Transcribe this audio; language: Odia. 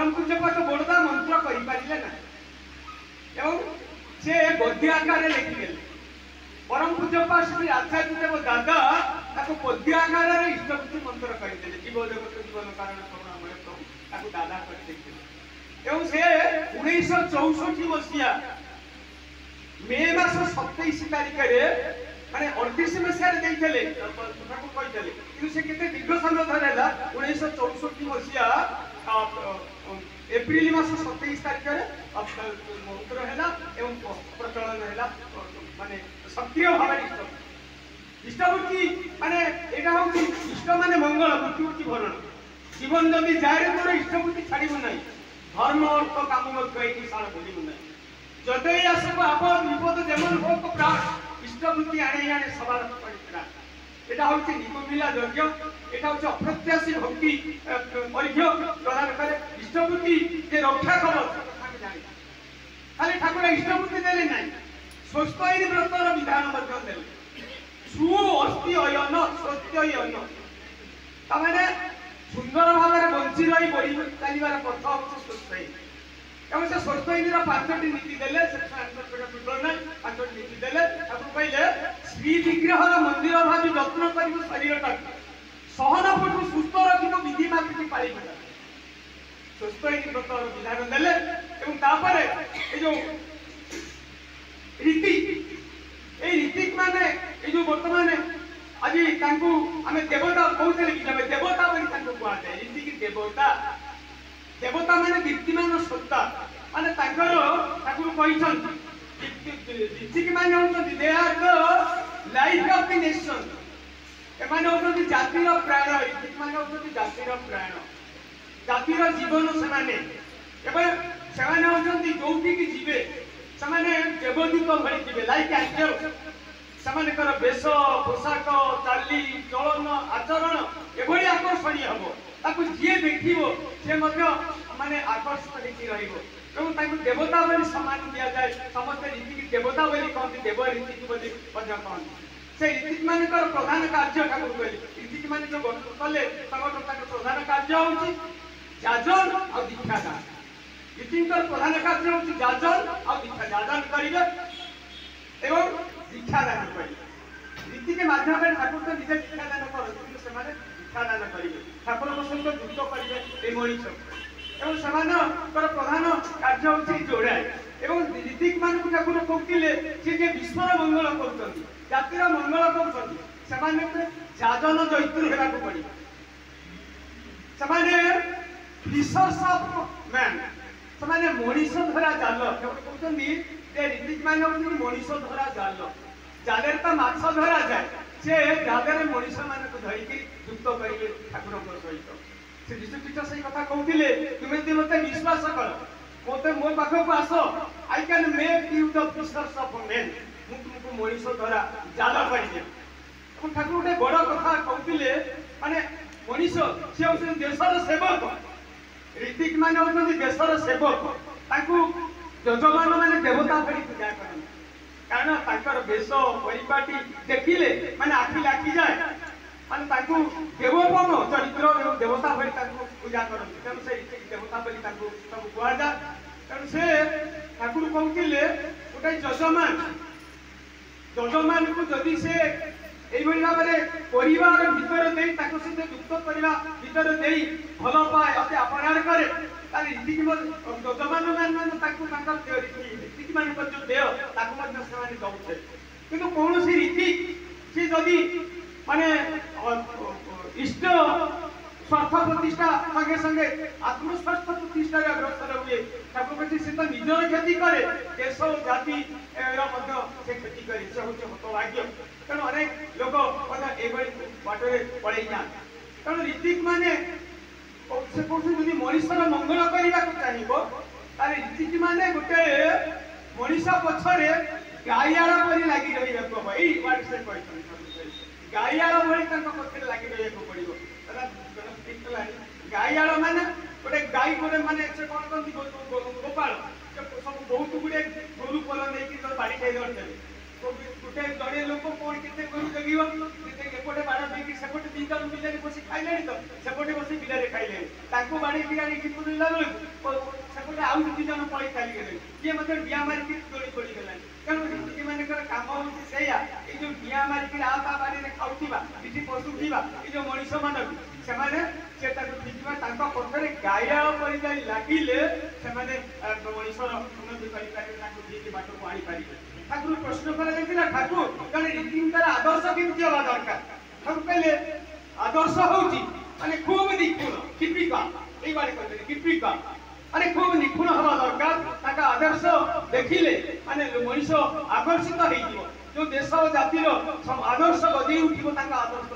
ପରମ ପୂଜ୍ୟପାଦ ବୋଡ଼ଦା ମନ୍ତ୍ର କରିପାରିଲେ ନାହିଁ ଏବଂ ସେ ଗଦ୍ୟ ଆକାରରେ ଲେଖିଦେଲେ। ପରମ ପୂଜ୍ୟପାଦ ଶ୍ରୀ ଆଚାର୍ଯ୍ୟ ଦେବ ଦାଦା ତାକୁ ପଦ୍ୟ ଆକାରରେ ଇଷ୍ଟବୃତ୍ତି ମନ୍ତ୍ର କରିଦେଲେ। ଜୀବ ଜଗତ ଜୀବନ କାରଣ କରୁଣାମୟ ପ୍ରଭୁ ତାକୁ ଦାଦା କରିଦେଇଥିଲେ। ଏବଂ ସେ 1964 ମସିହା ମେ ମାସ 27 ତାରିଖରେ, ମାନେ 38 ମସିହାରେ ଦେଇଥିଲେ, ଠାକୁର କହିଥିଲେ, କିନ୍ତୁ ସେ କେତେ ଦୀର୍ଘ ସମୟ ଧରି ହେଲା, 1964 ମସିହା ଏପ୍ରିଲ ମାସ 27 ତାରିଖରେ ମନ୍ତ୍ର ହେଲା ଏବଂ ପ୍ରଚଳନ ହେଲା, ମାନେ ସକ୍ରିୟ ଭାବରେ ଇଷ୍ଟବୃତ୍ତି। ଇଷ୍ଟବୃତ୍ତି ମାନେ ଏଇଟା ହଉଛି ଇଷ୍ଟ ମାନେ ମଙ୍ଗଳ, ମୃତ୍ୟୁ ହଉଛି ଭରଣ। ଜୀବନ ଯଦି ଯାଏ ତୋର ଇଷ୍ଟବୃତ୍ତି ଛାଡ଼ିବୁ ନାହିଁ, ଧର୍ମ ଅର୍ଥ କାମ ମଧ୍ୟ ଏଇ ନିଶାଣ ଭୁଲିବୁ ନାହିଁ। ଯତଇ ଆସବ ଆପଦ ବିପଦ ଯେମନ ହୋକ ପ୍ରାଣ, ଇଷ୍ଟବୃତ୍ତି ଆଣେ ଆଣେ ସବାର ପରିତ୍ରାଣ। এটা হচ্ছে নিকুমিলা যজ্ঞ, এটা হচ্ছে অপ্রত্যাশী ভক্তি অর্ঘ্য প্রদান করে। ইষ্টবৃত্তি যে রক্ষা কবচ আমি জানি, খালি ঠাকুর ইষ্টবৃত্তি দেলে নাই, স্বস্তৈন ব্রতর বিধান ମଧ୍ୟ ଦେଲେ। ସୁ ଅସ୍তি ଅୟନ ସତ୍ୟ ଅୟନ, ତାମାନେ ସୁନ୍ଦର ଭାବରେ ବଞ୍ଚି ରହି ବଢି ଚାଲିବାର ପଥ ହଉଛି ସ୍ୱସ୍ତୈନ। ଏବଂ ସେ ସ୍ୱସ୍ତୈନୀର 5ଟି ନୀତି ଦେଲେ, ସେ ନାହିଁ, 5ଟି ନୀତି ଦେଲେ। ତାକୁ କହିଲେ ଶ୍ରୀ ବିଗ୍ରହର ମନ୍ଦିର ଭାବି ଯତ୍ନ କରିବୁ ଶରୀରଟାକୁ, ସହନ ପଟୁ ସୁସ୍ଥ ରଖିବୁ, ବିଧି ମାଫିକି ପାଳିବୁ। ସ୍ୱସ୍ତୈନୀ ବ୍ରତର ବିଧାନ ଦେଲେ। ଏବଂ ତାପରେ ଏଇ ଯୋଉ ରୀତି, ଏଇ ରୀତି ମାନେ ଏଇ ଯୋଉ ବର୍ତ୍ତମାନ ଆଜି ତାଙ୍କୁ ଆମେ ଦେବତା କହୁଥିଲେ କି ଆମେ ଦେବତା ବୋଲି ତାଙ୍କୁ କୁହାଯାଏ। ରୀତିକି ଦେବତା, ଦେବତା ମାନେ ଦୀପ୍ତିମାନ ସତ୍ତା, ମାନେ ତାଙ୍କର ଠାକୁର କହିଛନ୍ତି ରୀତିକି ମାନେ ହଉଛନ୍ତି they are the life of the nation. ଏମାନେ ହଉଛନ୍ତି ଜାତିର ପ୍ରାଣ, ରୀତିକି ମାନେ ହଉଛନ୍ତି ଜାତିର ପ୍ରାଣ, ଜାତିର ଜୀବନ ସେମାନେ। ଏବେ ସେମାନେ ହଉଛନ୍ତି ଯୋଉଠିକି ଯିବେ ସେମାନେ ଦେବଦୂତ ଭଳି ଯିବେ, ଲାଇକ୍ ଆଞ୍ଜେଲ। ସେମାନଙ୍କର ବେଶ, ପୋଷାକ, ଚାଲି ଚଳନ, ଆଚରଣ ଏଭଳି ଆକର୍ଷଣୀୟ ହବ, ତାକୁ ଯିଏ ଦେଖିବ ସେ ମଧ୍ୟ ମାନେ ଆକର୍ଷିତ ହେଇକି ରହିବ। ଏବଂ ତାଙ୍କୁ ଦେବତା ବୋଲି ସମ୍ମାନ ଦିଆଯାଏ। ସମସ୍ତେ ରୀତିକି ଦେବତା ବୋଲି କହନ୍ତି, ଦେବ ରୀତିକି ବୋଲି ମଧ୍ୟ କହନ୍ତି। ସେ ରୀତିକ ମାନଙ୍କର ପ୍ରଧାନ କାର୍ଯ୍ୟ ଠାକୁର କହିଲେ, ରୀତିକ ମାନେ ଯୋଉ ଗଠନ କଲେ ସଂଗଠନ, ତାଙ୍କର ପ୍ରଧାନ କାର୍ଯ୍ୟ ହଉଛି ଯାଜନ ଆଉ ଦୀକ୍ଷାଦାନ। ରୀତିଙ୍କର ପ୍ରଧାନ କାର୍ଯ୍ୟ ହଉଛି ଯାଜନ ଆଉ ଦୀକ୍ଷା, ଯାଜନ କରିବେ ଏବଂ ଦୀକ୍ଷାଦାନ କରିବେ। ରୀତିକି ମାଧ୍ୟମରେ ଠାକୁର ତ ନିଜେ ଦୀକ୍ଷାଦାନ କରନ୍ତି, କିନ୍ତୁ ସେମାନେ ଦୀକ୍ଷାଦାନ କରିବେ, ଠାକୁରଙ୍କ ସହିତ ଯୁକ୍ତ କରିବେ ଏଇ ମଣିଷ। ଏବଂ ସେମାନଙ୍କର ପ୍ରଧାନ କାର୍ଯ୍ୟ ହଉଛି ଯୋଡ଼ାଏ। ଏବଂ ରୀତିକ ମାନଙ୍କୁ ଠାକୁର କହୁଥିଲେ ସେ ଯେ ବିଶ୍ୱର ମଙ୍ଗଳ କରୁଛନ୍ତି, ଜାତିର ମଙ୍ଗଳ କରୁଛନ୍ତି, ସେମାନେ ଯାଜନ ଜୈତ୍ରୀ ହେବାକୁ ପଡିବ। ସେମାନେ ଫିସର୍ସ ଅଫ ମ୍ୟାନ୍, ସେମାନେ ମଣିଷ ଧରା ଜାଲ। ଠାକୁର କହୁଛନ୍ତି ଯେ ରୀତିକ ମାନେ ହଉଛନ୍ତି ମଣିଷ ଧରା ଜାଲ। ଜାଲରେ ତ ମାଛ ଧରାଯାଏ, ସେ ଜାଲରେ ମଣିଷ ମାନଙ୍କୁ ଧରିକି ଯୁକ୍ତ କରିବେ ଠାକୁରଙ୍କ ସହିତ। ସେ ଯୀଶୁଖ୍ରୀଷ୍ଟ ସେଇ କଥା କହୁଥିଲେ, ତୁମେ ଯଦି ମତେ ବିଶ୍ୱାସ କର, ମତେ ମୋ ପାଖକୁ ଆସ, I can make you the fishers of men, ମୁଁ ତୁମକୁ ମଣିଷ ଧରା ଜାଲ କରିଦେବି। ଏବଂ ଠାକୁର ଗୋଟେ ବଡ କଥା କହୁଥିଲେ, ମାନେ ମଣିଷ ସେ ହଉଛନ୍ତି ଦେଶର ସେବକ, ରୀତିକ ମାନେ ହଉଛନ୍ତି ଦେଶର ସେବକ। ତାଙ୍କୁ ଯଜମାନ ମାନେ ଦେବତା ଭଳି ପୂଜା କରନ୍ତି, କାରଣ ତାଙ୍କର ବେଶ ପରିପାଟି ଦେଖିଲେ ମାନେ ଆଖି ଲାଖିଯାଏ, ମାନେ ତାଙ୍କୁ ଦେବୋପମ ଚରିତ୍ର ଏବଂ ଦେବତା ଭଳି ତାଙ୍କୁ ପୂଜା କରନ୍ତି। ତେଣୁ ସେ ଦେବତା ବୋଲି ତାଙ୍କୁ ସବୁ କୁହାଯାଏ। ତେଣୁ ସେ ଠାକୁର କହୁଥିଲେ ଗୋଟେ ଯଜମାନ, ଯଜମାନକୁ ଯଦି ସେ ଏଇଭଳି ଭାବରେ ପରିବାର ଭିତରେ ଦେଇ ତାଙ୍କ ସହିତ ଯୁକ୍ତ କରିବା ଭିତରେ ଦେଇ ଭଲ ପାଏ, ଅତି ଆପଣାର କରେ, ତାହେଲେ ରୀତିକି ଯଜମାନ ମାନେ ତାଙ୍କୁ ତାଙ୍କର ରୀତିକି ମାନଙ୍କର ଯୋଉ ଦେୟ ତାକୁ ମଧ୍ୟ ସେମାନେ ଦଉଥିଲେ। କିନ୍ତୁ କୌଣସି ରୀତି ସେ ଯଦି ମାନେ ଇଷ୍ଟ ସ୍ୱାର୍ଥ ପ୍ରତିଷ୍ଠା ସଙ୍ଗେ ସଙ୍ଗେ ଆତ୍ମସ୍ୱାର୍ଥ ପ୍ରତିଷ୍ଠାରେ ଅଗ୍ରସର ହୁଏ, ଠାକୁର କହୁଛି ସେ ତ ନିଜର କ୍ଷତି କରେ, ଦେଶ ଓ ଜାତିର ମଧ୍ୟ ସେ କ୍ଷତି କରେ, ସେ ହଉଛି ହତଭାଗ୍ୟ। ତେଣୁ ଅନେକ ଲୋକ ମଧ୍ୟ ଏଇଭଳି ବାଟରେ ପଳେଇ ଯାଆନ୍ତି। ତେଣୁ ରୀତିକ ମାନେ ସେ କହୁଛନ୍ତି ଯଦି ମଣିଷର ମଙ୍ଗଳ କରିବାକୁ ଚାହିଁବ, ତାହେଲେ ରୀତିକ ମାନେ ଗୋଟେ ମଣିଷ ପଛରେ ଗାଈଆଳ ପରି ଲାଗି ରହିବାକୁ ହବ। ଏଇ ୱାର୍ଡ ସେ କହିଛନ୍ତି, ଗାଈଆଳ ଭଳି ତାଙ୍କ ପଛରେ ଲାଗି ରହିବାକୁ ପଡିବ। ଗାଈଆଳ ମାନେ ଗୋଟେ ଗାଈ ଗୋଟେ ମାନେ ସେ କଣ କହନ୍ତି ଗୋପାଳ, ସବୁ ବହୁତ ଗୁଡିଏ ଗୋରୁ ପଲ ନେଇକି ବାଡି ଖାଇ ଧରିଦେବେ। ଗୋଟେ ଜଣେ ଲୋକ କଣ କେତେ ଗୋରୁ ଜଗିବ, ଏପଟେ ବାଡ଼ ଦେଇକି ସେପଟେ ଦି ଜଣ ବିଲରେ ବସି ଖାଇଲେଣି ତ, ସେପଟେ ବସି ବିଲରେ ଖାଇଲେଣି, ତାଙ୍କୁ ବାଡ଼େଇକି ଆଣିକି ପୁରିଲା ବେଳକୁ ସେପଟେ ଆଉ ଦି ଜଣ ପଳେଇ ଚାଲିଗଲେଣି, କିଏ ମଧ୍ୟ ଡିଆଁ ମାରିକି ଦୋଳି ପଡ଼ିଗଲାଣି। କାରଣ ଋତିକ ମାନଙ୍କର କାମ ହଉଛି ସେଇଆ, ଏଇ ଯୋଉ ଡିଆଁ ମାରିକି ଆ ତା ବାଡ଼ିରେ ଖାଉଥିବା, ଏଠି ପଶୁଥିବା ଏଇ ଯୋଉ ମଣିଷ ମାନଙ୍କୁ ସେମାନେ ସେ ତାକୁ ଠିକିବା, ତାଙ୍କ ପଛରେ ଗାଇଆଳ ପରି ଯାଇ ଲାଗିଲେ ସେମାନେ ମଣିଷର ଉନ୍ନତି କରିପାରିବେ, ତାଙ୍କୁ ଠିକ ବାଟକୁ ଆଣିପାରିବେ। ଠାକୁର ପ୍ରଶ୍ନ କରାଯାଇଥିଲା, ଠାକୁର ଜଣେ ରୀତିଙ୍କର ଆଦର୍ଶ କେମିତି ହବା ଦରକାର? ଠାକୁର କହିଲେ ଆଦର୍ଶ ହଉଛି ମାନେ ଖୁବ ନିଖୁଣ, ଟିପିକାଲ। ଏଇ ବାରେ କହିଲେ ଟିପିକାଲ ମାନେ ଖୁବ ନିଖୁଣ ହବା ଦରକାର। ତାଙ୍କ ଆଦର୍ଶ ଦେଖିଲେ ମାନେ ମଣିଷ ଆକର୍ଷିତ ହେଇଯିବ, ଯୋଉ ଦେଶ ଜାତିର ଆଦର୍ଶ ଗଜେଇ ଉଠିବ ତାଙ୍କ ଆଦର୍ଶ